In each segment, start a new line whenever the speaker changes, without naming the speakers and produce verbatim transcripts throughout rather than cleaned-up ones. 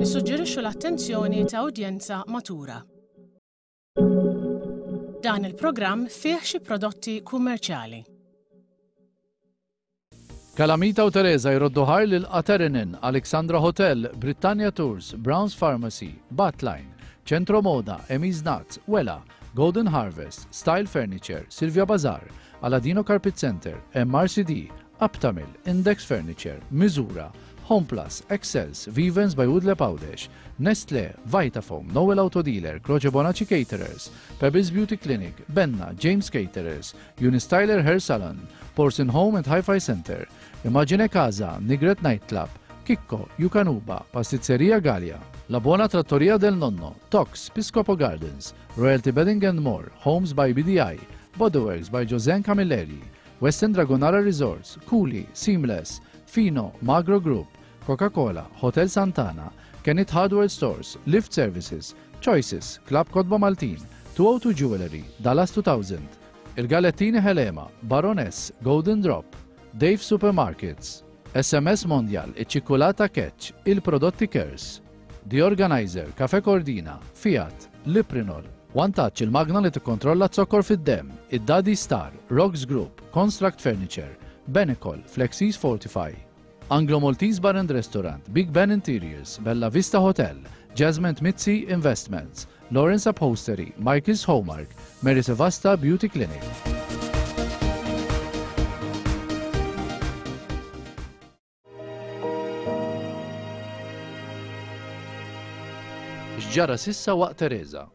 Nissuġġerixxu l-attenzjoni ta' udjenza matura. Dan il-programm fih xi prodotti kummerċjali.
Kalamita u Teresa jroddu ħajr lil Aterinin, Alexandra Hotel, Britannia Tours, Browns Pharmacy, Batline, Centro Moda, Emi's Nuts, Wella, Golden Harvest, Style Furniture, Silvia Bazar, Aladino Carpet Center, M R C D, Aptamil, Index Furniture, Misura, Home Plus, Excels, Vivens by Woodley Għawdex, Nestle, Vitafoam, Noel Auto Dealer, Croce Bonacci Caterers, Pebbles Beauty Clinic, Benna, James Caterers, Unistyler Hair Salon, Porcin Home and Hi-Fi Center, Imagine Casa, Nigret Nightclub, Kikko, Yukanuba, Pastizzeria Gallia, La Buona Trattoria del Nonno, Tox, Piscopo Gardens, Royalty Bedding and More, Homes by B D I, Bodyworks by Joseanne Camilleri, Western Dragonara Resorts, Cooley, Seamless, Fino, Magro Group, Coca-Cola, Hotel Santana, Kenneth Hardware Stores, Lift Services, Choices, Club Kotba Maltin, two oh two Jewelry, Dallas two thousand, Il Galettini Helema, Baroness, Golden Drop, Dave Supermarkets, S M S Mondial, Iċ-Ċikkulata Catch, Il-Prodotti Kers, The Organizer, Cafe Cordina, Fiat, Liprinol, One Touch il-magna li tikkontrolla z-zokkor fid-dem, id-Daddy Star, Rocks Group, Construct Furniture, Benecol, Flexis Fortify, Anglo Maltese Bar and Restaurant, Big Ben Interiors, Bella Vista Hotel, Jasmine Mizzi Investments, Lawrence Upholstery, Michael's Hallmark, Mary Sevasta Beauty Clinic. X'ġara s'issa waqt Teresa?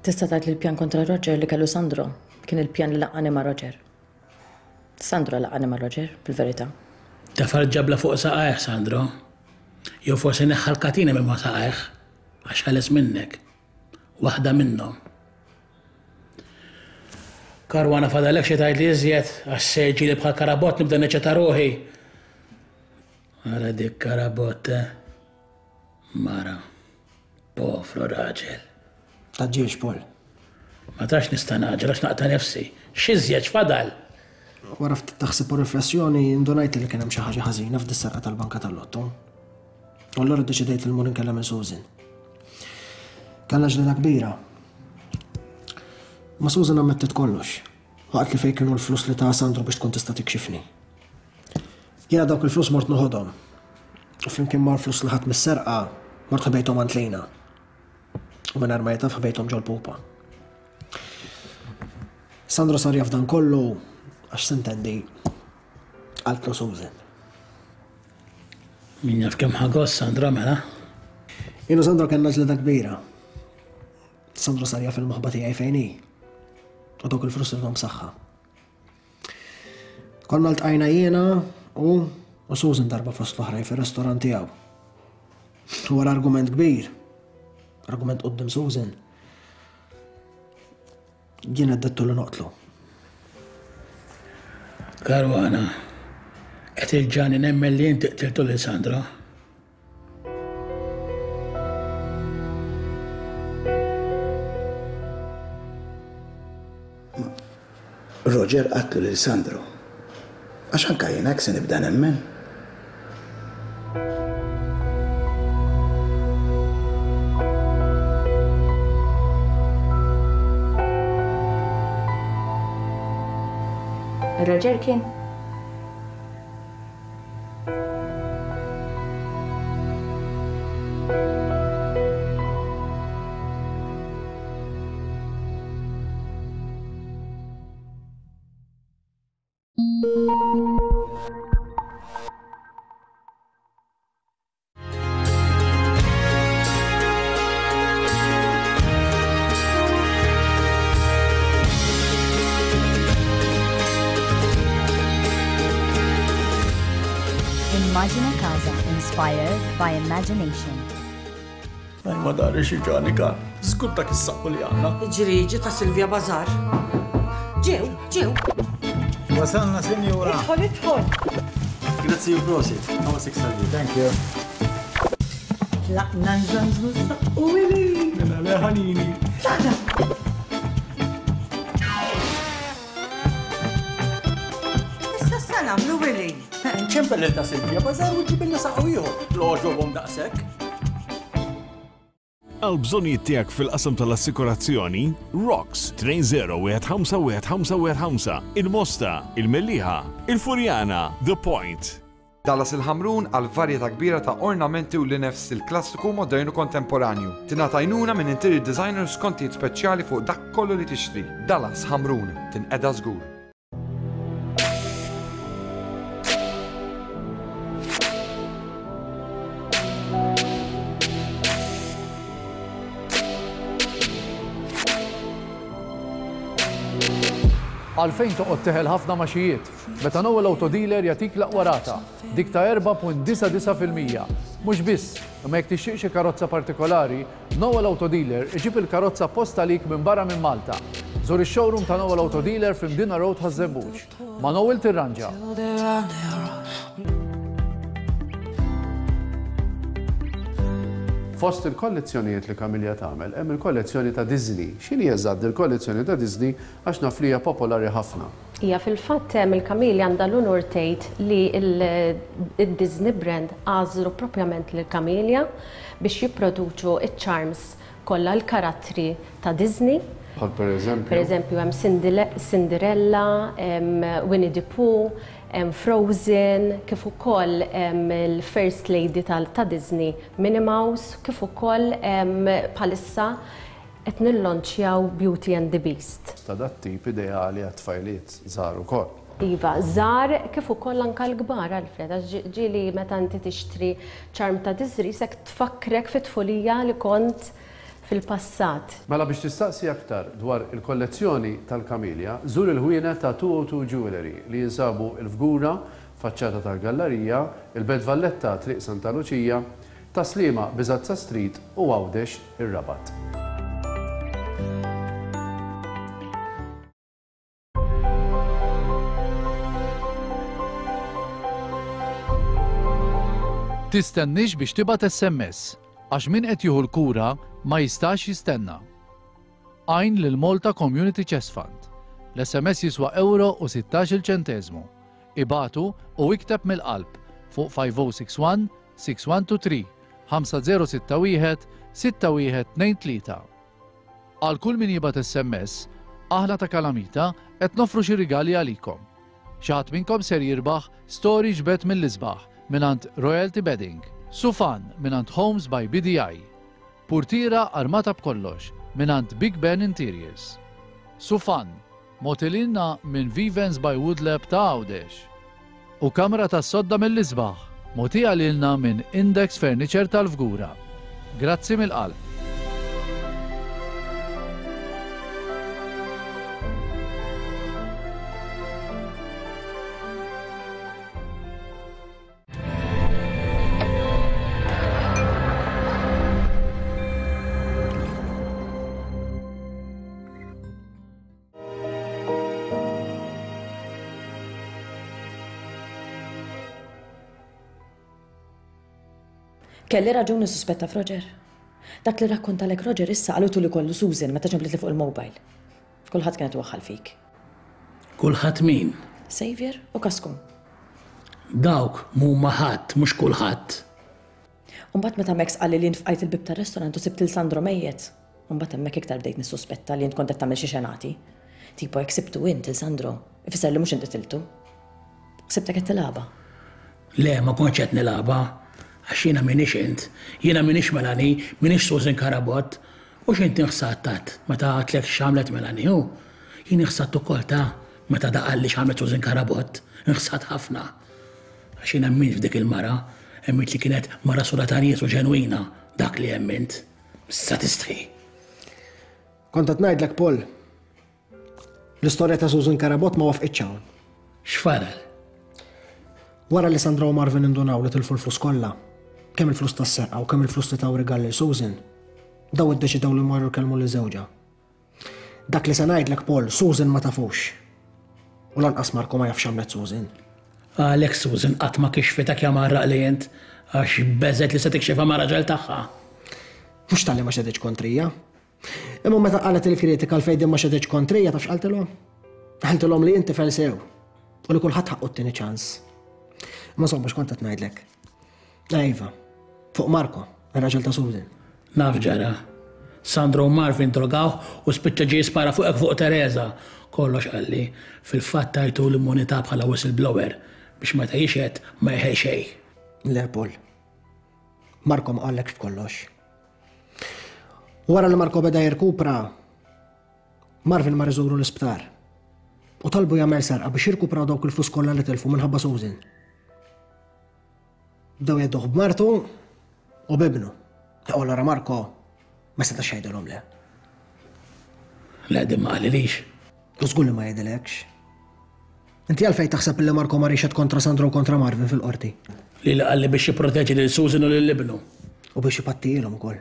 Tista' tgħid li l-pjan kontra Roger li kellu Sandro kien il-pjan li laqqani ma' Roger. Sandro laqqani ma' Roger, fil-verità.
Tefa' l-ġabla fuq saqajh, Sandro. Jew forsi neħħa l-katina minn ma' saqajh, għax ħeles minnek. Waħda minnhom. Karwana, fadallek xi tgħid li iżjed, għax se ġili bħal karabott nibda neċċita ruħi. Ara dik karabott, eh? Mara. Povru raġel.
Tgħaġġilx, Paul.
Ma tax nista' ngħaġġel għax naqta' nifsi. X'iżjed x'fadal?
Wara ftit taħsib u riflessjoni indunajt li kien hemm xi ħaġa ħażina f'dis-serqa tal-banka tal-lotto. U allura ddeċidejt li mmur inkellem lil Susan. Kellna ġlieda kbira. Ma Susan ammettet kollox. Waqt li fejn kienu l-flus li ta Sandro biex tkun tista' tikxifni. Jiena dawk il-flus mort noħodhom. U flimkien mal-flus li ħadt mis-serqa mort ħbejthom għand Lejna. U minn ma jtaf ħbejthom ġol-pupa. Sandro sar jaf dan kollu għax, s'intendi, qaltlu Susan.
Min jaf kemm ħa gost Sandro mela.
Jien u Sandro kellna ġlieda kbira. Sandro sar jaf il-moħba tiegħi fejn hi. U dawk il-flus irridhom saħħa. Konna ltqajna jiena u u Susan darba fost l-oħrajn fir-restorant tiegħu. Wara argument kbir, argument quddiem Susan, jien għeddidtu li noqtlu.
Karwana, qed iġġagħalni nemmen li inti qtiltu lil Sandro.
Roger qatlu lil Sandro. Għax anka jien hekk se nibda nemmen.
Roger kien.
Immagine Casa, inspired by imagination.
Għaj ma dari xi ġani kan. Żgur dak is-saqqu li għandna.
Ġriġi ta' Silvia Bazar. Ġew, ġew.
Wasalna, sinjura.
Idħol, idħol.
Grazzi u prosit. Għawa six. Thank you.
Tlaqna nżanżnu s-saqqu, Willy.
Mela le ħanini.
Tlaqna. Issa sa nagħmlu, Willy?
Ċempel lil ta' Silvia Bażar u ġibilna saqqu ieħor. L-għoġobhom daqshekk.
Għal bżonnijiet tiegħek fil-qasam tal-assikurazzjoni, Rocks tnejn żero wieħed ħamsa wieħed ħamsa wieħed ħamsa, il-Mosta, il-Mellieħa, il-Furjana, The Point.
Dallas il-Ħamrun għal varjetà kbira ta' ornamenti u linef stil klassiku, modern u kontemporanju. Tingħata għajnuna minn interior designer skontijiet speċjali fuq dak kollu li tixtri. Dallas Ħamrun, tinqeda żgur.
Għalfejn toqgħod teħel ħafna maxijiet, meta Noel Auto Dealer jagħtik l-aqwa rata, dik ta' erba' punt disa' disa' fil-mija. Mhux biss, imma jekk tixtieq xi karozza partikolari, Noel Auto Dealer iġib il-karozza apposta għalik minn barra minn Malta. Żur ix-showroom ta' Noel Auto Dealer f'Mdina Road Ħaż-Żebbuġ. Ma' Noel tirranġa. Fost il-kollezzjonijiet li Kamilja tagħmel hemm il-kollezzjoni ta' Disney. X'inhi eżatt il-kollezzjoni ta' Disney għax naf li hija popolari ħafna.
Hija fil-fatt hemm il-Kamilja għandha l-unur tgħid li il-Disney brand għażlu propjament lil Kamilja biex jipproduċu iċ-charms kollha l-karattri ta' Disney.
Bħal per eżempju?
Per eżempju hemm Cinderella, hemm Winnie the Pooh, hemm Frozen, kif ukoll hemm il-First Lady ta' Disney, Minnie Mouse, kif ukoll bħalissa qed nillonċjaw Beauty and the Beast.
Ta' dat tip ideali għat-tfajliet żgħar ukoll.
Iva, żgħar kif ukoll anke l-kbar, Alfred, għax ġieli meta inti tixtri charm ta' Disney sek tfakkrek fit-tfulija li kont fil-passat.
Mela biex tistaqsi aktar dwar il-kollezzjoni tal-Kamilja, żur il-ħwienet ta' two oh two Jewelry li jinsabu il-Fgura, faċċata tal-Gallerija, il-Belt Valletta, Triq Santa Luċija, Taslima Biżazza Street u Għawdex ir-Rabat. Tistennix biex tibgħat S M S, għax min qed jieħu l-kura ma jistax jistenna. Għajn lil Malta Community Chest Fund. L-S M S jiswa euro u sittax-il ċenteżmu. Ibatu u ikteb mill-qalb fuq five oh six one, six one two three, ħamsa zero sitta wieħed, sitta wieħed tnejn tlieta. Għal kull min jibgħat S M S, aħna ta' Kalamita qed nofru xi rigali għalikom. Xi ħadd minnkom ser jirbaħ storage bed mill-isbaħ mingħand Royalty Bedding, Sufan mingħand Homes by B D I, Purtira armata b'kollox mingħand Big Ben Interiors, Sufan motilinna minn Vivens by Woodlab ta' Għawdex u kamra tas sodda mill-isbaħ mogħtija lilna minn Index Furniture tal-Fgura. Grazzi mill-qalb.
Kelli raġuni suspetta f'Roger. Dak li rakkontalek Roger issa qalutu li kollu Susan meta ġemblitli fuq il-mobile. Kulħadd kienet waħħal fik.
Kulħadd min?
Xavier u Kaskum.
Dawk mhuma ħadd, mhux kulħadd.
Umbagħad meta Max qalli li nfqajt il-bib tar-restorant u sibt il Sandro mejjet. Umbagħad hemmhekk iktar bdejt nissuspetta li int kont qed tagħmel xi xenati. Tipo jekk sibtu int il Sandro, ifisser li mhux int qtiltu. Sibtek qed tilgħabha.
Le, ma kontx qed nilgħabha. Għax jiena m'iniex int, jiena m'iniex Melanie, m'iniex Susan Carabott. U x'inti nħsattat meta għadtlek x'għamlet Melanie, hu? Jien nħsatt ukoll ta' meta daqalli x'għamlet Susan Carabott, nħsat ħafna. Għax jiena emmint f'dik il-mara, emmint li kienet mara sura ta' nies u ġenwina, dak li emmint. Issa tistħi.
Kont qed ngħidlek, Paul, l-istorja ta' Susan Carabott ma wafqitx hawn.
X'faral?
Wara li Sandra u Marvin indunaw li tilfu l-flus kollha, kemm il-flus tas-serqa u kemm il-flus li taw rigal lil Susan, daw iddeċidew li marru jkellmu lil żewġha. Dak li se ngħidlek, Paul, Susan ma tafux. U lanqas Marco ma jafx x'għamlet Susan.
Għalhekk Susan qatt ma kixfitek ja marraq li int, għax beżet li se tikxifha ma' raġel tagħha.
Mhux talli ma xeditx kontrija. Imma meta qalet il-kritika għalfejn din ma xeditx kontrija, taf x'qaltilhom? Qaltilhom li inti tifel sew u li kulħadd ħaqqu t-tieni ċans. Ma insomma, x'kont qed ngħidlek? Iva, fuq Marco, ir-raġel ta' Susan.
Naf ġara. Sandro u Marvin drogawh u spiċċa ġie jispara fuqek fuq Teresa. Kollox qalli, fil-fatt tajtu l-immunità bħala whistleblower biex meta jixhed ma jeħel xejn.
Le, Paul. Marco ma qallekx b'kollox. Wara li Marco beda jirkupra, Marvin mar iżuru l-isptar. U talbu jagħmel serqa biex jirkupraw dawk il-flus kollha li tilfu minħabba Susan. Bdew jedduh b'martu u b'ibnu. U allura Marco ma setax jgħidilhom le.
Le, din ma qalilix.
U żgur li ma jgħidilekx. Inti għalfejn taħseb li Marco mar jixhed kontra Sandro u kontra Marvin fil-qorti?
Li li qalli biex jipproteġi lil Susan u lil ibnu.
U biex ipattilhom ukoll.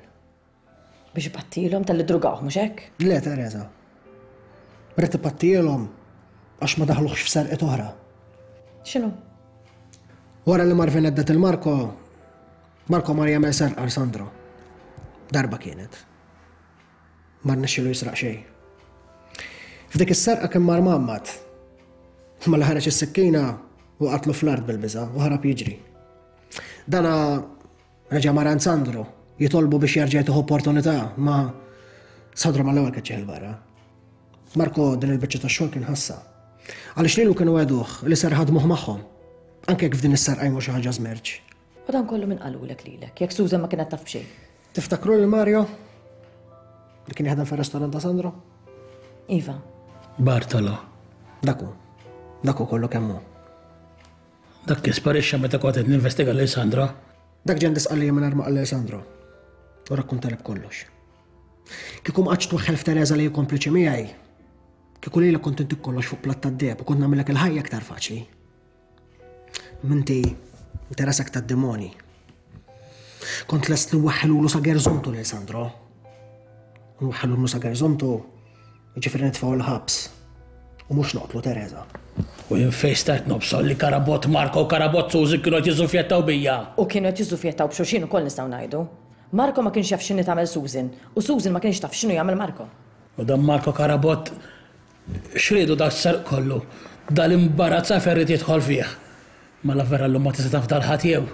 Biex ipattilhom talli drugawh, mhux hekk?
Le, Teresa. Ried ipattilhom għax ma daħluhx f'serqiet oħra.
X'inhu?
Wara li Marvin għeddet il-Marco, Marco mar jagħmel serqa għal Sandro. Darba kienet. Ma rnexxielu jisraq xejn. F'dik is-serqa kien mar mgħammad. Ma li ħareġ is-sikkina u qatlu fl-art bil-biża' u ħarab jiġri. Dana reġa' mar għand Sandro jitolbu biex jerġa' jtih opportunità, ma Sandro mal-ewwel keċċih 'il barra. Marco din il-biċċa tax-xogħol kien ħassa. Għaliex lilu kienu għeduh li ser ħadmuh magħhom. Anke jekk f'din is-serqa jmur xi ħaġa żmerġ.
U dan kollu min qalulek lilek, jekk Susan ma kienet taf b'xejn.
Tiftakru lil Mario? Li kien jaħdem fir-restorant ta' Sandro?
Iva.
Bartolo.
Dak hu. Dak hu kollu kemm hu.
Dak kien sparixxa meta kont qed ninvestiga lil Sandro.
Dak ġen disqalli mingħajr ma qal lil Sandro. U rakkuntali b'kollox. Kieku ma qgħadx twaħħel f'Teresa li hi kompliċi miegħi, kieku lilek kont intik kollox fuq platt tad-deheb u kont nagħmilek il-ħajja aktar faċli. Minti interesak tad-demoni. Kont lest li nwaħħilulu sa gerzontu lil Sandro. Nwaħħilulu sa gerzontu, jiġifieri nitfgħu l-ħabs. U mhux noqtlu Teresa.
U jien fejn stajt nobsol li Karabott Marco u Karabott Susan kienu qed jiżufjettaw bija.
U kienu qed jiżufjettaw b'xulxin ukoll nistgħu ngħidu. Marco ma kienx jaf x'inhi tagħmel Susan u Susan ma kienx taf x'inhu jagħmel Marco.
U dan Marco Karabott x'riedu dak s-serq kollu? Dal-imbarazz għalfejn ried jidħol fih. Mela vera llum ma tista' taf dal-ħadd jew.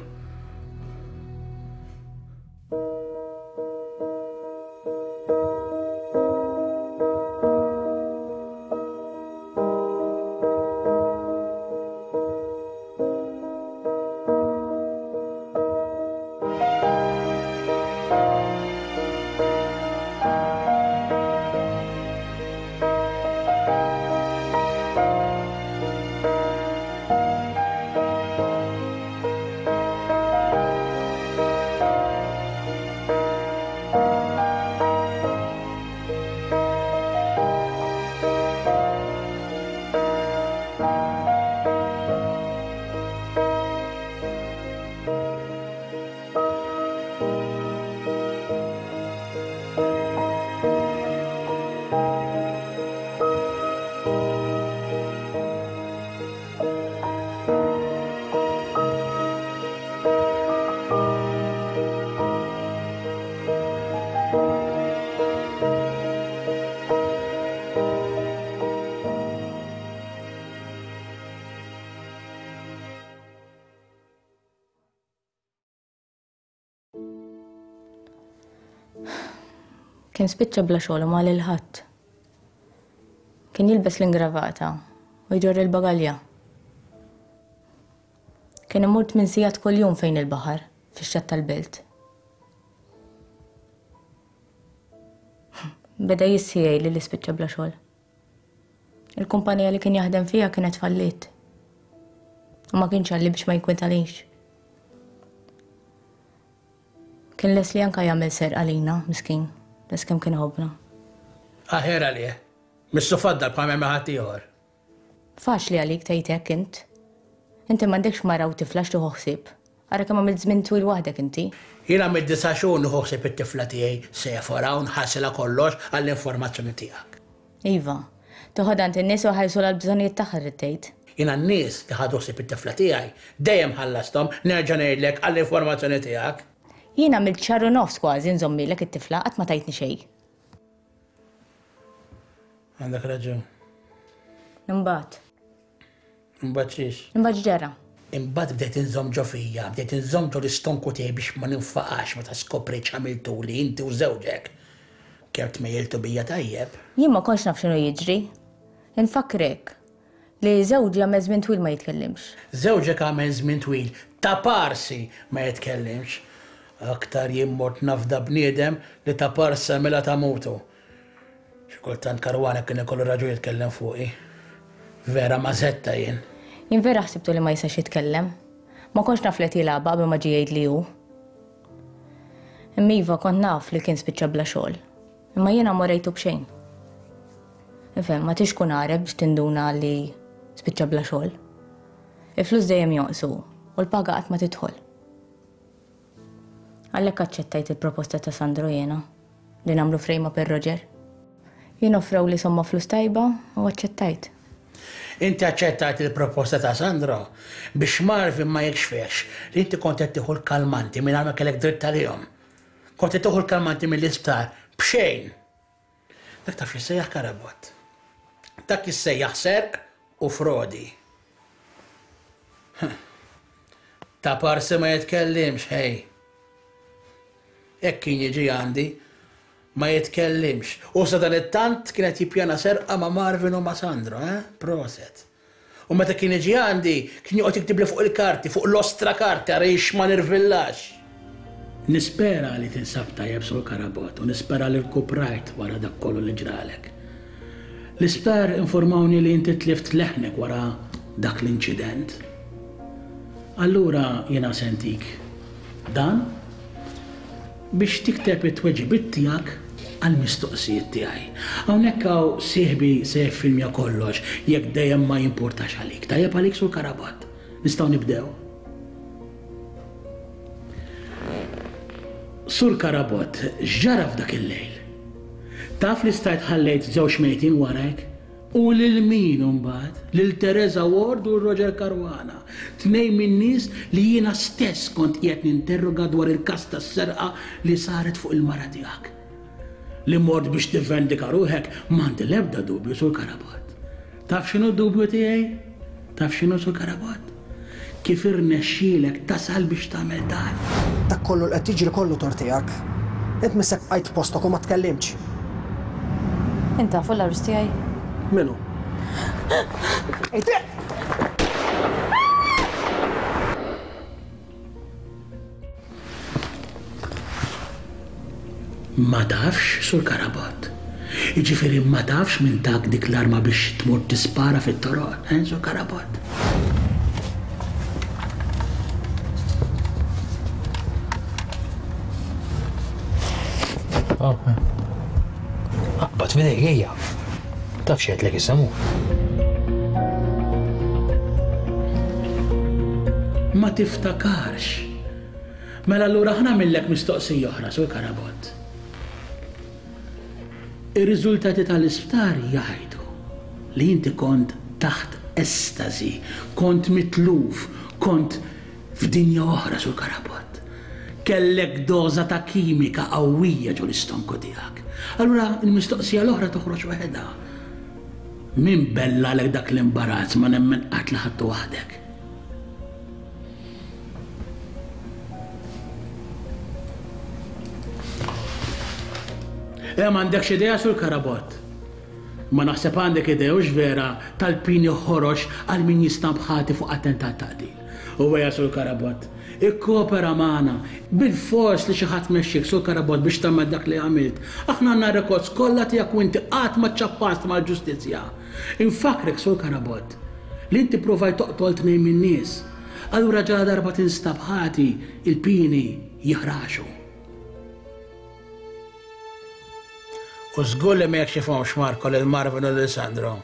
Kien spiċċa bla xogħol u ma lil ħadd. Kien jilbes l-ingravata u jġorr il-bagalja. Kien imur tmien sigħat kuljum fejn il-baħar, fix-xatt tal-belt. Beda jissijaj li li spiċċa bla xogħol. Il-kumpanija li kien jaħdem fiha kienet falliet. U ma kienx għalli biex ma jinkwetalix. Kien les li anka jagħmel serq għalina, miskin. Les kemm kien ħobna.
Aħjar għalih. Missu faddal bħal ma ħadd ieħor.
Faċli għalik tgħid hekk int. Inti m'għandekx mara u tifla x'tieħu ħsieb. Ara kemm għamilt żmien twil waħdek inti.
Jiena għamilt disa' xhur nieħu ħsieb it-tifla tiegħi Sephora u nħassilha kollox għall-informazzjoni tiegħek.
Iva, toħodha għand in-nies u ħajsulha l-bżonnijiet tagħha rrid tgħid.
Jiena n-nies li ħadu ħsieb it-tifla tiegħi dejjem ħallasthom, nerġa' ngħidlek għall-informazzjoni tiegħek.
Jiena għamilt xahar u nofs kważi nżommilek it-tifla qatt ma tajtni xejn.
Għandek raġun.
Imbagħad.
Imbagħad xiex?
Imbagħad x'ġara?
Imbagħad bdejt inżomm ġo fija, bdejt inżomm ġo l-istonku tiegħi biex ma ninfaqax meta skoprejt x'għamiltuli inti u żewġek. Kemm tmejjiltu bija tajjeb.
Jien ma kontx naf x'inhu jiġri. Infakkrek li żewġi għamel żmien twil ma jitkellimx.
Żewġek għamel żmien twil ta' parsi ma jitkellimx. Aktar jien mort nafda bniedem li ta' parsi għamilha ta' mutu. Xi kultant Caruana kien ikollu raġun jitkellem fuqi. Vera mażetta jien.
Jien vera ħsibtu li ma jistax jitkellem. Ma kontx naf li qed jilgħabha qabel ma ġie jgħid li hu. Imma iva kont naf li kien spiċċa bla xogħol. Imma jiena ma rejtu b'xejn. Ifhem, ma tix tkun għaref biex tinduna li spiċċa bla xogħol. Il-flus dejjem jonqsu u l-paga qatt ma tidħol. Għalhekk aċċettajt il-proposta ta' Sandro jiena li nagħmlu frame up ir-Roger. Jien offrewli somma flus tajba u aċċettajt.
Inti aċċettajt il-proposta ta' Sandro biex Marvin ma jikxfekx li inti kont qed tieħu l-kalmanti mingħajr ma kellek dritt għalihom. Kont qed tieħu l-kalmanti mill-isptar b'xejn. Dak taf x'issejjaħ Carabott. Dak jissejjaħ serq u frodi. Ta' parsi ma jitkellimx, hej. Hekk kien jiġi għandi, ma jitkellimx. U sadanittant kien qed jippjana serqa ma' Marvin u ma' Sandro, eh? Proset. U meta kien jiġi għandi, kien joqgħod jiktibli fuq il-karti, fuq l-ostra karti, ara jiex ma nirvillax. Nispera li tinsab tajjeb Sur Carabott u nispera li rkuprajt wara dak kollu li ġralek. L-isptar informawni li inti tlift leħnek wara dak l-inċident. Allura jiena sentik dan biex tikteb it-tweġibiet tiegħek għall-mistoqsijiet tiegħi. Hawnhekk hawn sieħbi se jiffilmja kollox jekk dejjem ma jimpurtax għalik. Tajjeb għalik Sur Carabott. Nistgħu nibdew. Sur Carabott, x'ġara f'dak il-lejl? Taf li stajt ħallejt żewġ mejtin warajk? U lil min imbagħad? Lil Teresa Ward u Roger Caruana. Tnejn min-nies li jiena stess kont qiegħed ninterroga dwar il-każ tas-serqa li saret fuq il-mara tiegħek. Li mort biex tivvendika ruħek m'għandi l-ebda dubju Sur Carabott. Taf x'inhu d-dubju tiegħi? Taf x'inhu Sur Carabott? Kif irnexxielek tasal biex tagħmel dan?
Dak kollu li qed jiġri kollu tort tiegħek. Int missek bqajt f'postok u ma tkellimx.
Int tafu l-għarus tiegħi?
Minu?
Ma tafx, Sur Carabott. Jiġifieri ma tafx min tak dik l-arma biex tmur tispara fit-toroq, eh, Sur Carabott?
Aqbad f'idejk ejja. Taf x'għedlek issa mhu.
Ma tiftakarx. Mela allura ħa nagħmillek mistoqsija oħra, Sur Carabott. Ir-riżultati tal-isptar jgħidu li inti kont taħt estasi, kont mitluf, kont f'dinja oħra, Sur Carabott. Kellek doża ta' kimika qawwija ġo l-istonku tiegħek. Allura l-mistoqsija l-oħra toħroġ waħedha. Min bellalek dak l-imbarazz ma nemmen qatt li ħadtu waħdek. Eh, m'għandekx idea Sur Carabott. Ma naħseb għandek idea hux vera tal-pini ħorox għal min jinstab ħati fuq attentat ta' qtil. U ejja Sur Carabott, ikkopera magħna bil-fors li xi ħadd mexxik Sur Carabott biex tagħmel dak li għamilt. Aħna għandna rekords kollha tiegħek u inti qatt ma ċċappast mal-ġustizzja. Infakkrek Sur Carabott li inti provajt toqtol tnejn min-nies. Allura ġara darba tinstab ħati il-pini jiħraxu. U żgur li ma jekxifhomx Marco lil Marvin u lil Sandro.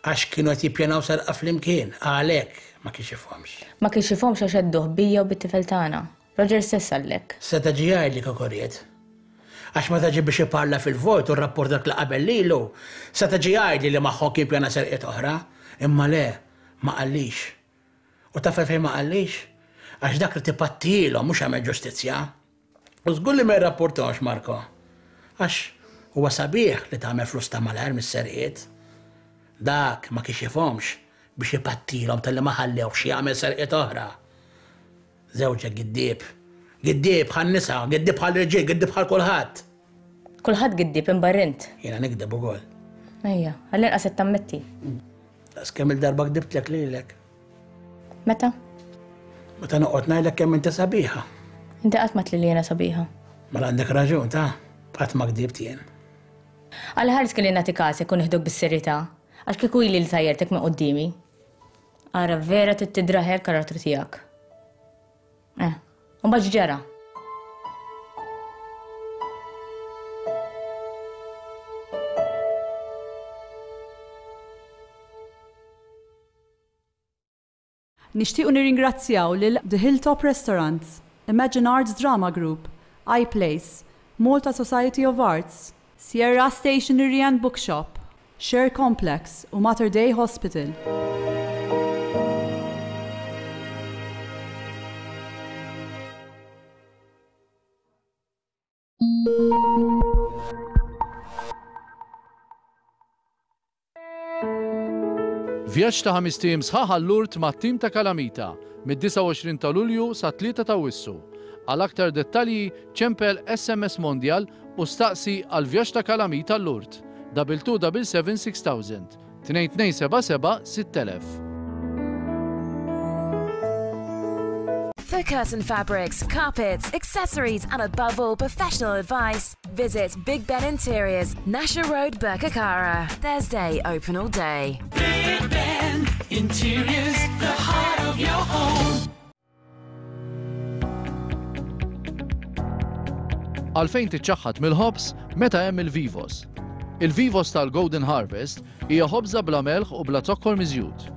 Għax kienu qed jippjanaw serqa flimkien, għalhekk ma kixifhomx.
Ma kixifhomx għax għedduh bija u bit-tifel tagħna. Roger stess għallek.
Seta' ġie jgħidli kieku ried. Għax meta ġie biex iparla fil-vojt u r-rapport dak li qabel lilu, seta' ġie jgħidli li magħhom kien pjana serqiet oħra, imma le, ma qallix. U taf għalfejn ma qallix? Għax dak li tipattilhom mhux għamel ġustizzja. U żgur li ma jirrapportahomx Marco. Għax huwa sabiħ li tagħmel flus ta' malajr mis-serqiet. Dak ma kixifhomx Biex ipattilhom talli ma ħallewhx jagħmel serqiet oħra. Żewġek giddieb. Giddieb bħan-nisa, giddieb bħall-irġiel, giddieb bħal kulħadd.
Kulħadd giddieb imbarra int.
Jiena nikdeb ukoll.
Ejja, għall-inqas qed tammetti.
Daqs kemm il-darba kdibtlek lilek.
Meta?
Meta noqgħod ngħidlek kemm inti sabiħa.
Inti qatt ma tli li jiena sabiħa.
Mela għandek raġun ta' qatt ma kdibt jien.
Għal ħares kelli nagħti kasek u nieħdok bis-serjetà, għax kieku ili li tajjertek minn quddiemi. Ara vera trid tidraħel karattru tiegħek. Eh, u mbagħad x'ġara?
Nixtiequ nirringrazzjaw lil The Hilltop Restaurant, Imagine Arts Drama Group, iPlace, Malta Society of Arts, Sierra Stationery and Bookshop, Share Complex u Mater Dei Hospital.
Vjaġġ ta' ħames ijiem sħaħ għal-Lourdes mat-tim ta' Kalamita mid-disgħa u għoxrin ta' Lulju sa tlieta ta' Awwissu. Għal aktar dettalji ċempel S M S Mondial u staqsi għal vjaġġ ta' Kalamita l-Lourdes. Double two double seven six thousand. Tnejn tnejn seba' seba' sitt elef.
For curtain fabrics, carpets, accessories, and above all, professional advice, visit Big Ben Interiors, Nasher Road, Birkirkara. Thursday, open all day.
Big Ben Interiors, the heart of your home.
Għalfejn tiċċaħħad mill-ħobż meta hemm il-Vivos. Il-Vivos tal-Golden Harvest hija ħobża bla melħ u bla zokkor miżjud.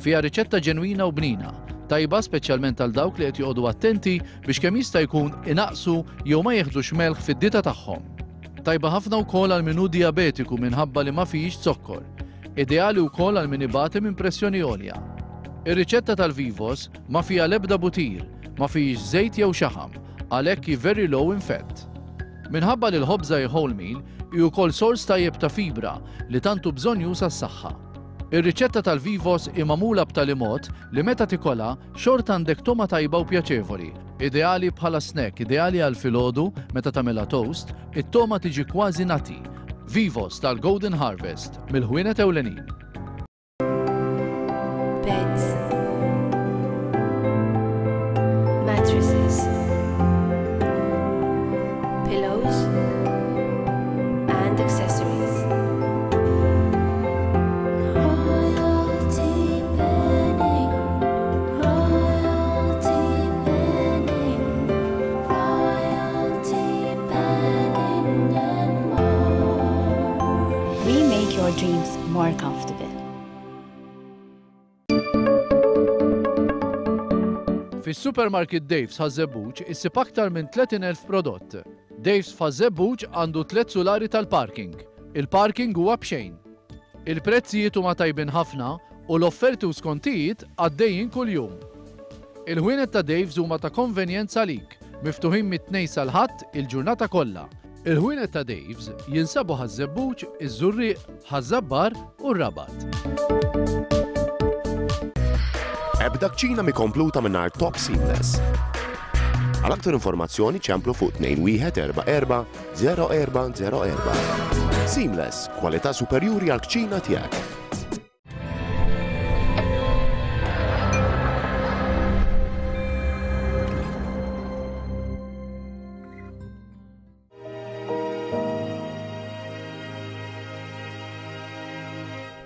Fiha riċetta ġenwina u bnina, tajba speċjalment għal dawk li qed joqogħdu attenti biex kemm jista' jkun inaqsu jew ma jieħdux melħ fid-dieta tagħhom. Tajba ħafna wkoll għal min hu diabetiku minħabba li ma fihx zokkor. Ideali wkoll għal min ibati minn pressjoni għolja. Ir-riċetta tal-Vivos ma fiha l-ebda butir, ma fihx żejt jew xaħam, għalhekk hi very low in fat. Minħabba li l-ħobża hi whole meal, hi wkoll sors tajjeb ta' fibra li tantu bżonn għas-saħħa. Ir-riċetta tal-Vivos hi magħmula b'tali mod li meta tikolha xorta għandek toma tajba u pjaċevoli. Ideali bħala snack, ideali għal filgħodu meta tagħmilha toast, it-toma tiġi kważi nati. Vivos tal-Golden Harvest mill-ħwienet ewlenin.
Beds, mattresses, pillows and accessories. Royalty Bedding, Royalty Bedding, Royalty Bedding and more.
We make your dreams more comfortable.
Fis-supermarket Dave's Ħaż-Żebbuġ issib aktar minn tletin elf prodott. Dave's f'Ħaż-Żebbuġ għandu tliet sulari tal-parking. Il-parking huwa b'xejn. Il-prezzijiet huma tajbin ħafna u l-offerti u skontijiet għaddejjin kuljum. Il-ħwienet ta' Dave's huma ta' konvenjenza għalik, miftuħin mit-tnejn sal-Ħadd il-ġurnata kollha. Il-ħwienet ta' Dave's jinsabu Ħaż-Żebbuġ, iż-Żurrieq, Ħaż-Żabbar u r-Rabat.
Ebda kċina mi kompluta mingħajr Top Seamless. Għal aktar informazzjoni ċemplu fuq tnejn wieħed erba' erba' zero erba' zero erba'. Seamless, kwalità superjuri għal kċina tiegħek.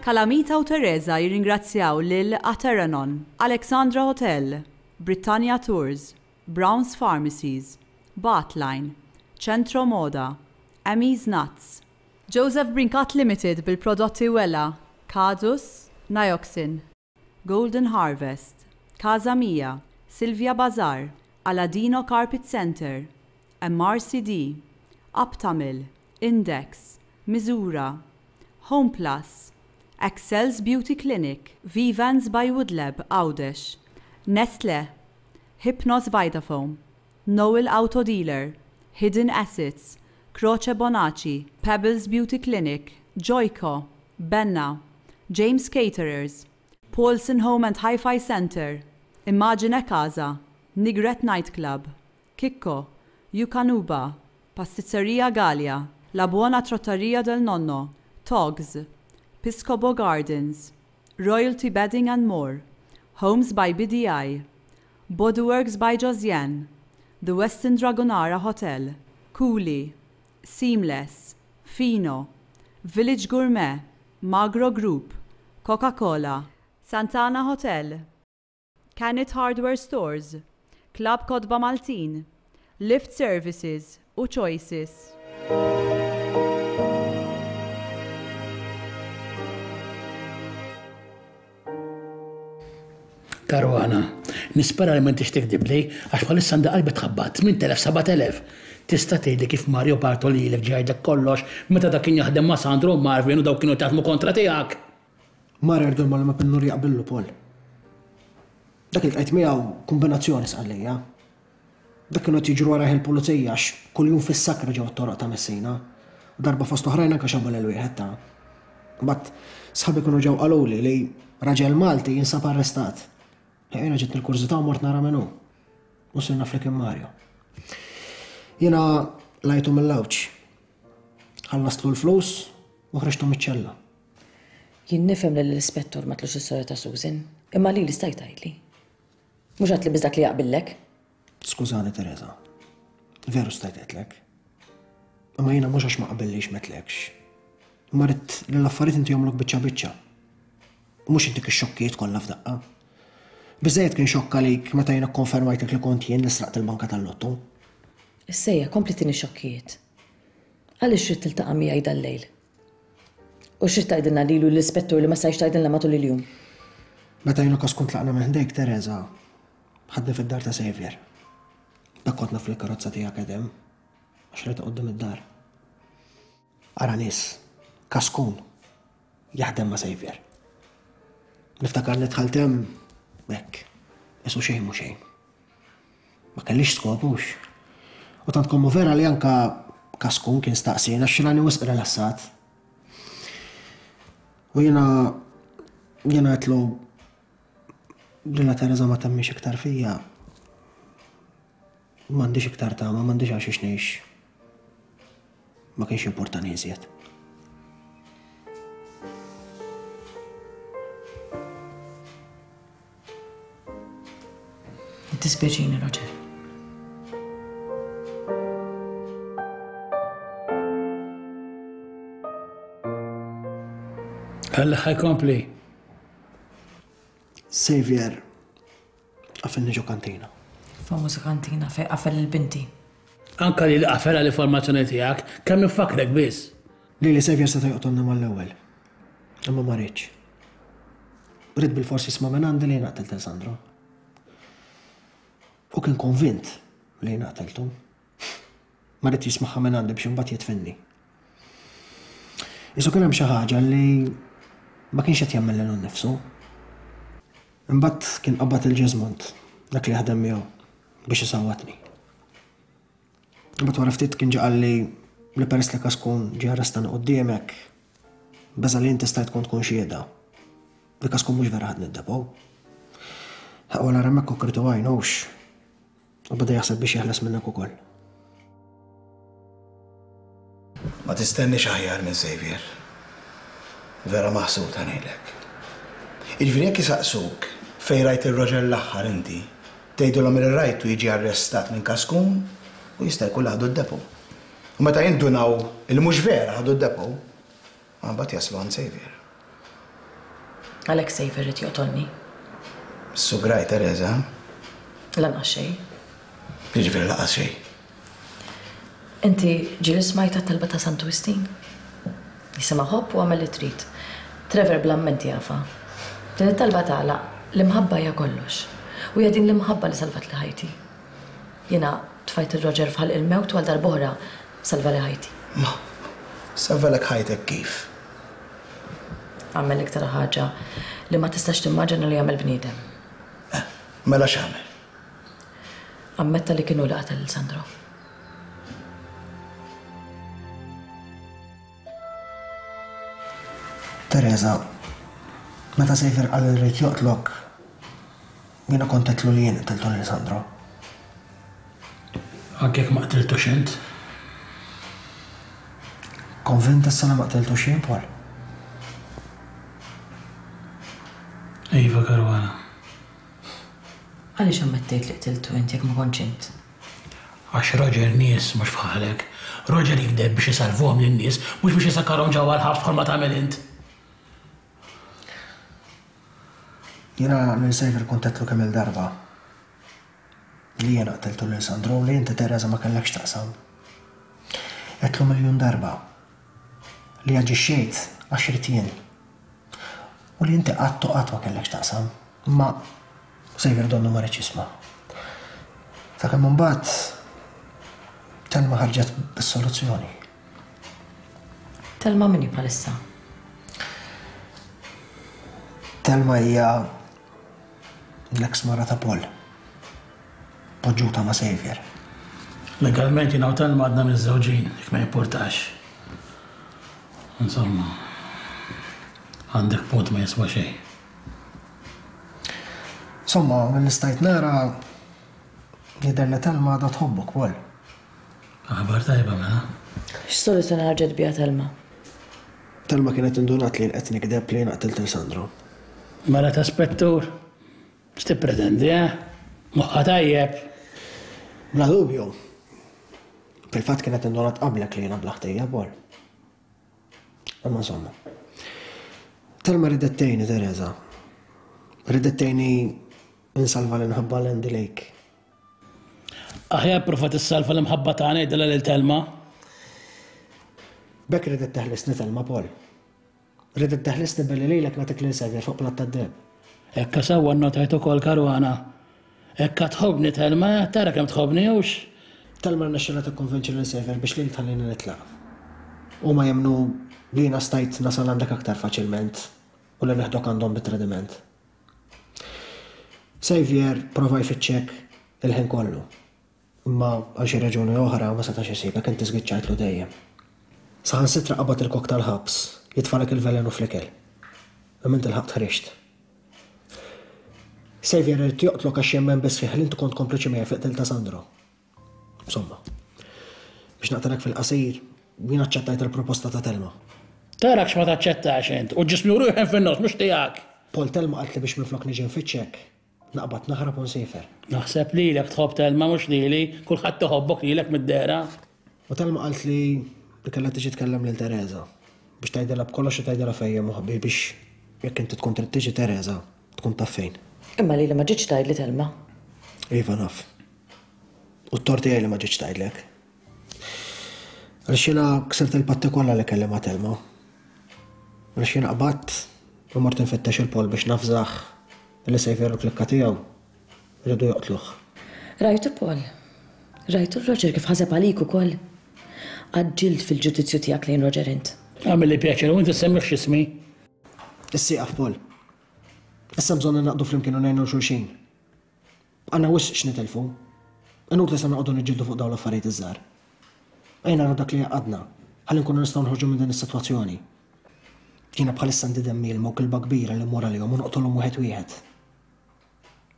Kalamita u Teresa jirringrazzjaw lil Ateranon, Alexandra Hotel, Britannia Tours, Browns Pharmacies, Bartline, Centro Moda, Emmy's Nuts, Joseph Brincat Limited bil-prodotti Wella, Kadus, Nioxin, Golden Harvest, Casa Mia, Silvia Bazar, Aladino Carpet Center, M R C D, Aptamil, Index, Misura, Home Plus, Excel's Beauty Clinic, Vivans by Woodlab, Għawdex, Nestle, Hypnos Vitafoam, Noel Auto Dealer, Hidden Assets, Croce Bonacci, Pebbles Beauty Clinic, Joyco, Benna, James Caterers, Paulson Home and Hi-Fi Center, Immagine Casa, Nigret Nightclub, Kikko, Yukanuba, Pasticceria Gallia, La Buona Trattoria del Nonno, Togs, Piscopo Gardens, Royalty Bedding and More, Homes by B D I, Bodyworks by Josiane, The Westin Dragonara Hotel, Cooley, Seamless, Fino, Village Gourmet, Magro Group, Coca-Cola, Santana Hotel, Canet Hardware Stores, Club Kotba Maltin, Lift Services u Choices.
Caruana, nispera li m'intix tikdibli għax bħalissa għandha qalbi tħabbat tmien elef seba' elef. Tista' tgħidli kif Mario Bartoli lilek ġie jgħidlek kollox meta dak kien jaħdem ma' Sandro u Marvin u dawk kienu jaħdmu kontra tiegħek.
Mario jgħidu ma' Pinnur jaqbillu Paul. Dak il tqajt miegħu kombinazzjoni sqallija. Dak kienu qed jiġru warajh il-pulizija għax kuljum fis-sakra ġew t-toroq ta' Messina. U darba fost oħrajn anke xabu lil wieħed ta'. Mbagħad sħabi kienu ġew qaluli li raġel Malti jinsab arrestat. Jiena ġiet il-kurżità u mort nara min hu. U sirna flik Mario. Jiena lajtu mill-lawċ. Ħallastlu l-flus u ħriġtu miċ-ċella.
Jien nifhem li l-ispettur ma tlux is-storja ta' Susan, imma lili stajt tgħidli. Mhux għad li biss dak li jaqbillek.
Skużani Teresa, veru stajt għedtlek. Imma jiena mhux għax ma qbillix m'għedtlekx. Imma rrid li l-affarijiet inti jagħmluk biċċa biċċa. U mhux intik ix-xokkijiet kollha f'daqqa. Biżejjed kien xokk għalik meta jiena kkonfermajtek li kont jien li sraqt il-banka tal-lottu.
Issejja, kompli tini xokkijiet. Għaliex trid tiltaqa' miegħi dal-lejl? U x'rid tgħidilna lilu l-ispettur li ma stajx tgħidilna matul il-jum?
Meta jiena kas kont tlaqna minn ħdejk, Teresa, ħadni fid-dar ta' Xavier. Dak kont naf li l-karozza tiegħek qed hemm, għax rajtha quddiem id-dar. Ara nies, kaskun, jaħdem ma' Xavier. Niftakar li dħalt hemm hekk, isu xejn mhu xejn. Ma kellix skop hux. U tant kommu vera li anka kaskun kien staqsina għax rani wisq rilassat. U jiena jiena għedtlu li la Teresa ma temmix iktar fija. M'għandix iktar tama, m'għandix għax ngħix. Ma kienx importanti iżjed.
Dispjaċini, Roger.
Għalla ħajkompli.
Xavier, għafilni ġo kantina.
Famuża kantina fej qafel il-binti.
Anka li l-qafel għall-informazzjoni tiegħek, kemm nifakrek biss.
Li li Xavier seta' joqtolna mal-ewwel. Imma ma rridx. Ridt bil-forsi jisma' minn għandi li naqtel lil Sandro. U kien konvint li naqteltu. Ma rrid jismagħha minn għandi biex imbagħad jitfinni. Isu kien hemm xi ħaġa li ma kienx qed jagħmel lilu nnifsu. Imbagħad kien qabad il-Ġeżmont, dak li jaħdem miegħu, biex isawwatni. Imbagħad wara ftit kien ġie qalli li peress li Kaskun ġie arrestani quddiemek, beża' li inti stajt tkun tkun xhieda. Li Kaskun mhux vera ħadni d-depot. Ħaqwa nara hemmhekk u kritu għajn hux. U beda jaħseb biex jeħles minnek ukoll.
Ma tistenniex aħjar minn Xavier. Vera maħsud ngħidlek. Jiġifieri jekk isaqsuk fejn rajt ir-Roger l-aħħar inti, tgħidulhom li rajtu jiġi arrestat minn Kaskun u jista' jkun ħadu d-depo. U meta jindunaw il mhux vera ħadu d-depo, mbagħad jaslu għand Xavier.
Għalhekk Xavier irid joqtolni.
Sugraj, Teresa?
Lanqas xejn.
Jiġifieri lanqas xejn.
Inti ġieli smajta t-talba ta' Santu Wistin? Jisimha ħobb u għamel li trid. Trevor bl-amment jafa. Din it-talba tagħlaq l-imħabba hija kollox. U hija din l-imħabba li salvat li ħajti. Jiena tfajt il-Roger f'ħalq il-mewt u għal darb'oħra salva li ħajti.
Ma, salvalek ħajtek kif?
Għamel iktar ħaġa li ma tistax timmaġina li jagħmel bniedem.
Eh, mela x'għamel?
Ammetta li kienu li qatel lil Sandro.
Teresa, Meta Xavier qal li rrid joqtlok, jiena kont għedtlu li jien qtiltu lil Sandro.
Anke jekk ma qtiltux int.
Konvint issa li ma qtiltux jien, Paul?
Iva, Caruana.
Għaliex ammettejt li qtiltu int jekk ma kontx int?
Għax Roger nies mhux bħalek. Roger jikdeb biex isalvuhom lin-nies, mhux biex isakkarhom ġewwa l-ħabs bħalma tagħmel int.
Jiena lil Xavier kont għedtlu kemm-il darba li jiena qtiltu lil Sandro u li inti Teresa ma kellekx taqsam. Għedtlu miljun darba li aġixxejt għax ridt jien u li inti qatt u qatt ma kellekx taqsam. Imma Xavier donnu ma riedx jisma'. Sakemm imbagħad Telma ħarġet bis-soluzzjoni.
Telma min hi bħalissa?
Telma hija l-ex mara ta' Paul. Poġġuta ma' Xavier.
Legalment jiena u Telma għadna miżżewġin, jekk ma jimpurtax. Insomma, għandek punt ma jiswa xejn.
Insomma, mill-li stajt nara jidher li Telma għadha tħobbok, Paul.
Aħbar tajba mela.
X'soluzzjoni ħarġet biha Telma?
Telma kienet indunat li qed nikdeb li jiena qtilt lil Sandro.
Mela ta' spettur, x'tippretendi, eh? Moħħha tajjeb.
Bla dubju. Fil-fatt kienet indunat qablek li jiena bla ħtija, Paul. Imma insomma. Telma ridet tgħinni, Teresa. Ridet tgħinni insalva l-inħabba l-Andy Lake.
Aħjar prova tissalva l-imħabba tagħna jgħidilha lil Telma.
B'hekk ridet teħlisni Telma, Paul. Ridet teħlisni billi lilek nagħtik lil Xavier fuq platt tad-deheb.
Ekka sewwa nnotajt ukoll Caruana. Ekka tħobbni Telma, tara kemm tħobbni hux.
Telma rnexxielha tikkonvinċi lil Xavier biex lil tħallini nitlaq. Huma jemmnu li jiena stajt nasal għandek aktar faċilment u li neħdok għandhom bit-tradiment. Xavier prova jfittxek il-ħin kollu. Imma għal xi raġuni oħra ma setax isibek, inti żgiċċajtlu dejjem. Saħansitra qabad il-kok tal-ħabs, jitfalek il-velenu fl-ikel. Imma inti l-ħabt ħriġt. Xavier irid joqtlok għax jemmen biss fih li inti kont kompliċi miegħi fi qtil ta' Sandro. Insomma, biex naqtalek fil-qasir, jien aċċettajt il-proposta ta' Telma.
Tarak x'ma taċċettax int, u ġismi u ruħi fin-nofs mhux tiegħek.
Paul, Telma qaltli biex minflok niġi nfittxek, naqbad naħrab u nsiefer.
Naħseb lilek tħobb Telma mhux lili, kulħadd iħobbok lilek mid-dehra.
U Telma qaltli li kellha tiġi tkellem lil Teresa biex tgħidilha b'kollox u tgħidilha fejn hemm moħbi biex jekk inti tkun trid tiġi Teresa tkun taf fejn.
Imma lili ma ġietx tgħidli Telma.
Iva naf. U t-tort tiegħi li ma ġietx tgħidlek. Għaliex jiena ksirt il-patti kollha li kelli ma' Telma. Għaliex jiena qbadt u mort infittex il-Paul biex nafżaħ li Xavier u klikka tiegħu rridu joqtluh.
Rajtu Paul. Rajtu Roger kif ħaseb għalik ukoll. Għaġġilt fil-ġudizzju tiegħek lejn Roger int.
Għamilli pjaċir u inti semmix ismi.
Issieqaf Paul. Issa bżonn naqdu flimkien u ngħinu xulxin. Għandna wisq x'nitilfu. Inutli se noqogħdu niġġieldu fuq dawn l-affarijiet iż-żgħar. Ejja naraw dak li għadna, ħalli nkunu nistgħu nħorġu minn din is-sitwazzjoni. Jiena bħalissa għandi demmi ilma u kilba kbira li mmur għalihom u noqtolhom wieħed wieħed.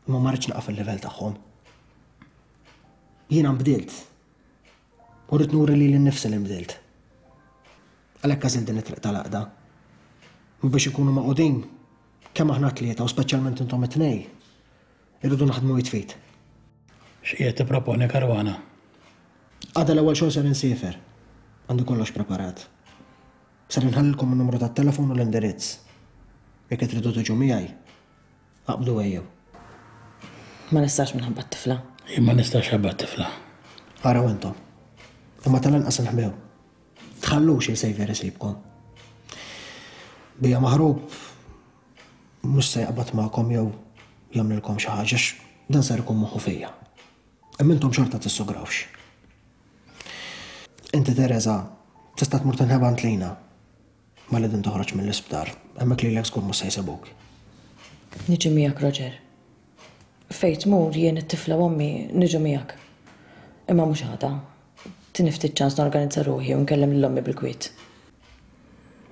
Imma ma rridx naqa' fil-livell tagħhom. Jiena nbdilt. U rrid nuri lili nnifsi li nbdilt. Għalhekk għażilt din it-triq tal-għaqda. U biex ikunu maqudin, kemm aħna tlieta u speċjalment intom it-tnej, irridu naħdmu jitfit.
X'qiegħed tipproponi Caruana?
Għada l-ewwel xogħol ser insiefer. Għandi kollox preparat. Ser inħallilkom in-numru tat-telefon u l-indirizz. Jekk tridu tiġu miegħi, aqbdu ejjew.
Ma nistax minħabba t-tifla.
Jien ma nistax ħabba t-tifla.
Araw intom. Imma tal-inqas inħbew. Tħallux il-Xavier isibkom. Bija maħrub mhux se jaqbad magħkom jew jagħmlilkom xi ħaġa dan ser ikun moħħu fija. Imma intom xorta tissugrawx. Inti Teresa tista' tmur tinħeba għand Lina. Malli din toħroġ mill-isptar, hemmhekk lilek żgur mhux se jsibuk.
Niġi miegħek Roger. Fejn tmur jien it-tifla u ommi niġu miegħek. Imma mhux għada. Tini ftit ċans norganizza ruħi u nkellem lil ommi bil-kwiet.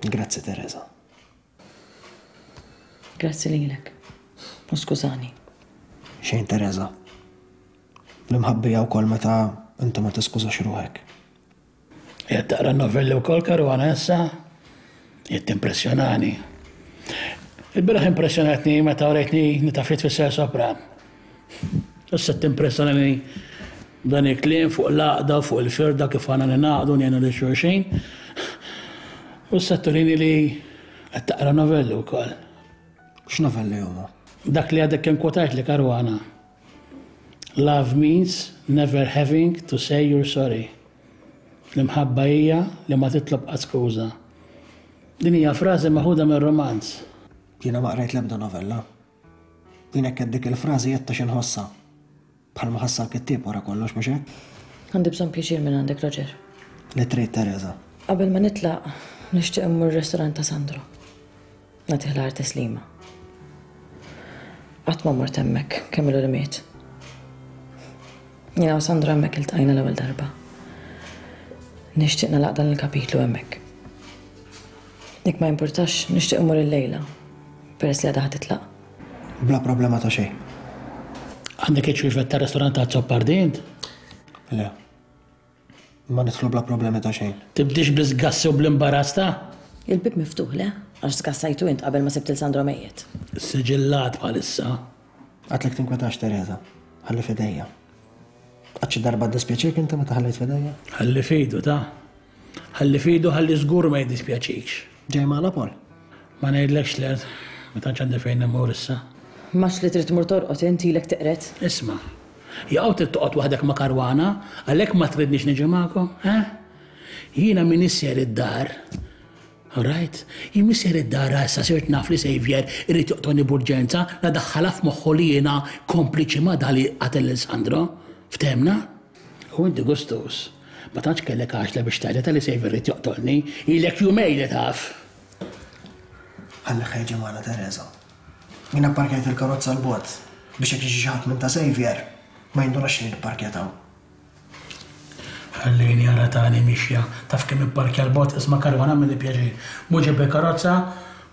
Grazzi Teresa.
Grazzi lilek. U skużani.
Xejn, Teresa. L-imħabba hija wkoll meta inti ma tiskużax ruħek.
Qed taqra novelli wkoll, Caruana, issa? Qed timpressjonani. Il-bieraħ impressjonatni meta urejtni li taf tfisser sopran. Issa timpressjonani dan il-kliem fuq l-għaqda, fuq il-firda, kif għandna ningħaqdu ngħinu lil xulxin. U issa turini li qed taqra novelli wkoll.
X'novelli huma?
Dak li għadek kemm kwotajt li, Caruana. Love means never having to say you're sorry. L-imħabba hija li ma titlob qatt skuża. Din hija frażi maħuda minn romanz.
Jiena ma qrajt l-ebda novella. Jien hekk dik il-frażi qed ta' xi Bħalma ħassa l-kittieb wara kollox, mhux hekk?
Għandi bżonn pjaċir minn għandek, Roger.
Li trid, Teresa.
Qabel ma nitlaq, nixtieq immur restaurant ta' Sandro. Nagħtih l-aħħar tislima. Qatt ma mort hemmhekk kemm ilu li miet. Jiena u Sandro hemmhekk iltqajna l-ewwel darba. Nixtieq nagħlaq dan il-kapitlu hemmhekk. Jekk ma jimpurtax, nixtieq immur illejla, peress li għadha ħa titlaq.
Bla problema ta' xejn.
Għandek iċ-ċwievet tar-restorant ta' Azzopardi int?
Le. Ma nidħlu bla problemi ta' xejn.
Tibdix bl-isgassi u bl-imbarazz ta'?
Il-bib miftuħ, le? Għax sgassajtu int qabel ma sibt il Sandro mejjet.
Siġillat bħalissa.
Għedtlek tinkwetax, Teresa. Ħalli f'idejja. Qatt xi darba ddispjaċik inti meta ħallejt f'idejja?
Ħalli f'idu ta'. Ħalli f'idu ħalli żgur ma jiddispjaċikx.
Ġej magħna, Paul?
Ma ngħidlekx le, ma tantx għandi fejn immur issa.
Max li trid tmur torqod inti ilek teqret.
Isma', jaqgħu trid toqgħod waħdek ma' Caruana, għalhekk ma tridniex niġi magħkom, eh? Jiena min isser id-dar. All right? Jien misser id-dar issa sirt naf li Xavier irid joqtolni b'urġenza la daħħalha f'moħħu li jiena kompliċi ma' dali qatel lil Sandro. Ftemna? U inti gustus. Ma tantx kellek għaxla biex tgħidha li Xavier irid joqtolni, ilek jumejn li taf.
Ħalli ħejġi magħna, Teresa. Jiena pparkjajt il-karozza l-bogħod biex jekk jiġi xi ħadd minn ta' Xavier ma jindunax li nipparkjataw.
Ħallini ara tani mixja, taf kemm ipparkja l-bogħod, isma' Caruana għamilli pjaċir. Mhux ġib il-karozza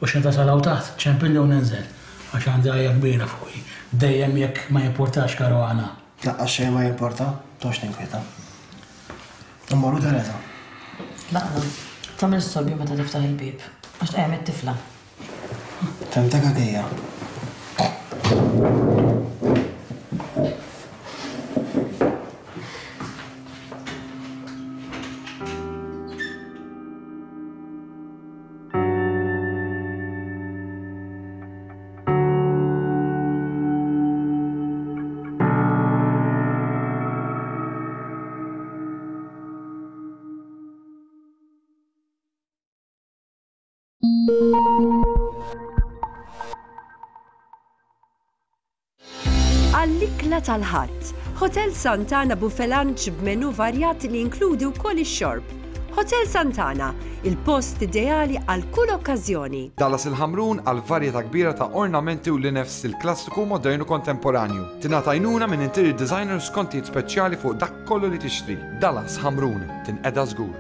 u xejn tasal hawn taħt, ċempilli u ninżel għax għandi għajja kbira fuqi. Dejjem jekk ma jimpurtax, Caruana.
Laqqas xejn ma jimporta, tox tinkwieta. Immorru, Teresa.
Laqna, tagħmel storbju meta tiftaħ il-bieb għax tqajjem it-tifla.
Fhimtek għakija.
Għall-ikla tal-Ħadd, Hotel Santana Buffet Lunch b'menu varjat li jinkludi wkoll ix-xorb. Hotel Santana, il-post ideali għal kull okkażjoni.
Dallas il-Ħamrun għal varjetà kbira ta' ornamenti u linef stil klassiku, modernu kontemporanju. Tingħata għajnuna minn interior designers skontijiet speċjali fuq dak kollu li tixtri. Dallas Ħamrun, tinqeda żgur.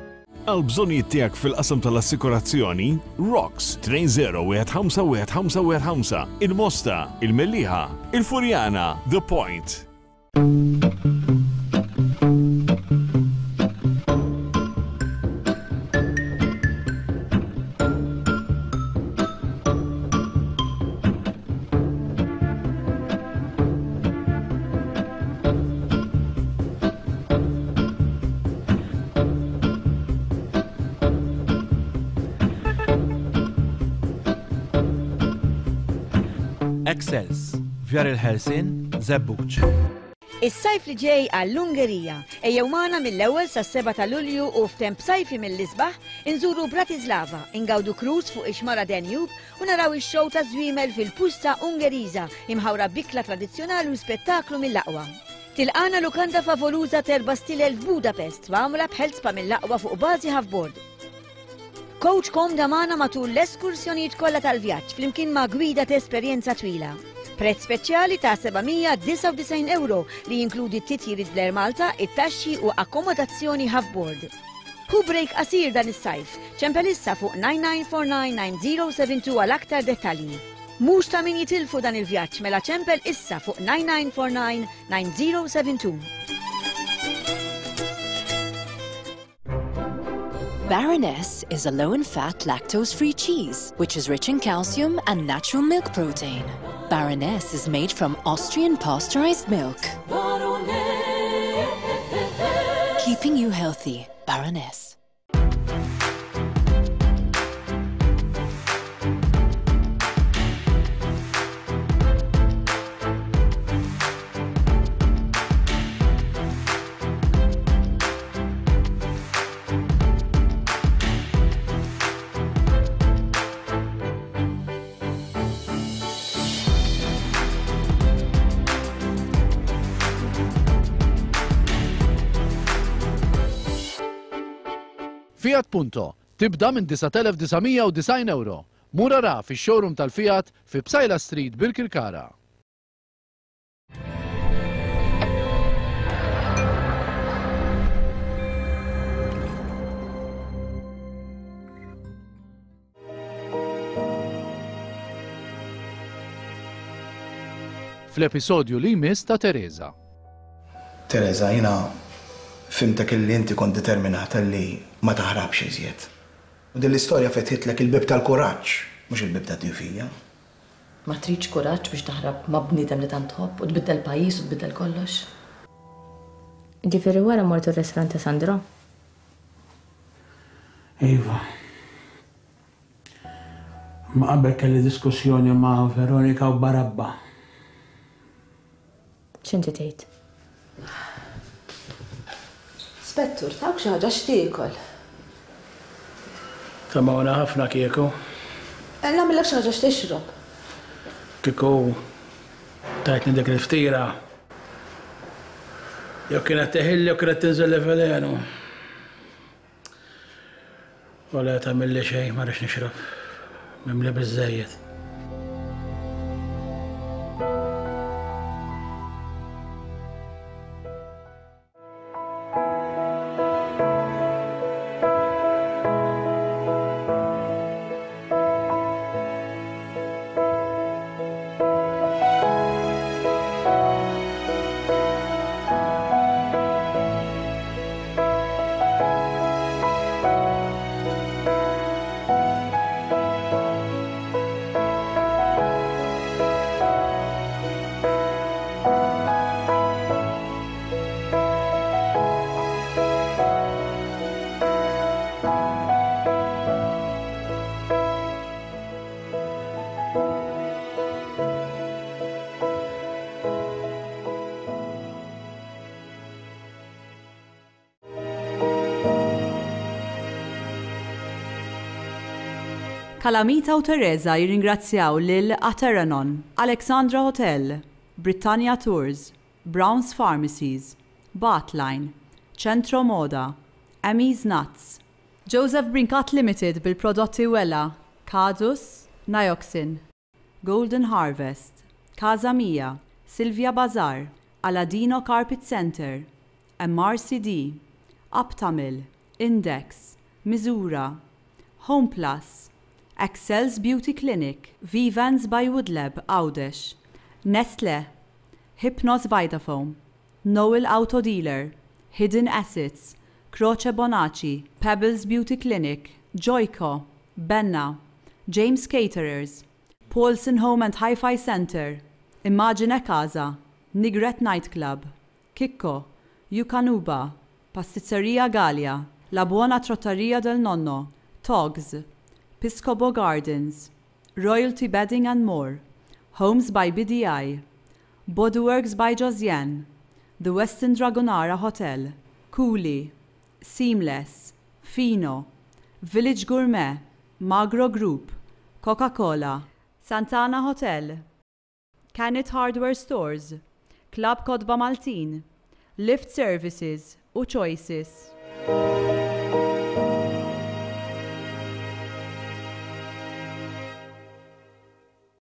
Għal bżonnijiet tiegħek fil-qasam tal-assikurazzjoni, Rocks tnejn żero wieħed ħamsa wieħed ħamsa wieħed ħamsa wieħed ħamsa, Il-Mosta, Il-Mellieħa, Il-Furjana, The Point.
Excels, Vjar il-Ħelsien, Żebbuġ.
Is-sajf li ġej għall-Ungerija. Ejjew magħna mill-ewwel sas-seba' ta' Lulju u f'temp sajfi mill-isbaħ inżuru Bratislava, ingawdu cruise fuq ix-xmara Danube u naraw ix-show ta' żwiemel fil-Puszta Ungeriża imħawra b'ikla tradizzjonali u spettaklu mill-aqwa. Tilqana lukanda favoluża t'erba' stilel f'Budapest mgħamra b'health spa mill-aqwa fuq bażi half-board. Coach komda magħna matul l-eskursjonijiet kollha tal-vjaġġ flimkien ma' gwida ta' esperjenza twila. Prezz speċjali ta' sebgħamija disgħa u disgħin euro li jinkludi titjiriet bl-Air Malta, it-taxxi u akkomodazzjoni half-board. Ħu break qasir dan is-sajf. Ċempel issa fuq nine nine four nine nine zero seven two għal aktar dettalji. Mhux ta' min jitilfu dan il-vjaġġ mela ċempel issa fuq nine nine four nine nine zero seven two.
Baroness is a low-in-fat, lactose-free cheese, which is rich in calcium and natural milk protein. Baroness is made from Austrian pasteurized milk. Keeping you healthy, Baroness.
Fiat Punto tibda minn disat elef disa' mija u disgħin euro. Mur ara fix-showroom tal-Fiat fi Psaila Street Birkirkara. Fl-episodju li jmiss ta' Teresa.
Teresa, jina fimtek illi inti kont determinata li ma taħrabx iżjed. U din l-istorja fetħitlek il-bib tal-kuraġġ, mhux il-bib tad-djufija.
Ma tridx kuraġġ biex taħrab ma' bniedem li tant tħobb u tbiddel pajjiż u tbiddel kollox?
Ġifieri wara mortu r-restaurant ta' Sandro?
Iva. Ma qabel kelli diskussjoni ma' Veronika u Barabba.
X'inti tgħid?
Spettur, tawk xi ħaġa x'tiekol?
Tamawna ħafna kieku.
Nagħmilek xi ħaġa x'tixrob.
Kieku tajtni dik il-ftira. Jew kienet teħilli jew kienet tinżel li velenu. U le tagħmilli xejn, ma rridx nixrob. Mimli biżżejjed.
Kalamita u Teresa jirringrazzjaw lil Ateranon, Alexandra Hotel, Britannia Tours, Browns Pharmacies, Bartline, Centro Moda, Emmy's Nuts, Joseph Brincat Limited bil-prodotti Wella, Kadus, Nioxin, Golden Harvest, Casa Mia, Silvia Bazar, Aladino Carpet Center, M R C D, Aptamil, Index, Misura, Home Plus, Excel's Beauty Clinic, Vivans by Woodlab, Għawdex, Nestle, Hypnos Vitafoam, Noel Auto Dealer, Hidden Assets, Croce Bonacci, Pebbles Beauty Clinic, Joyco, Benna, James Caterers, Paulson Home and Hi-Fi Center, Immagine Casa, Nigret Nightclub, Kikko, Yukanuba, Pasticceria Gallia, La Buona Trattoria del Nonno, Togs, Piscopo Gardens, Royalty Bedding and More, Homes by B D I, Bodyworks by Josiane, The Westin Dragonara Hotel, Cooley, Seamless, Fino, Village Gourmet, Magro Group, Coca-Cola, Santana Hotel, Canet Hardware Stores, Club Kotba Maltin, Lift Services u Choices.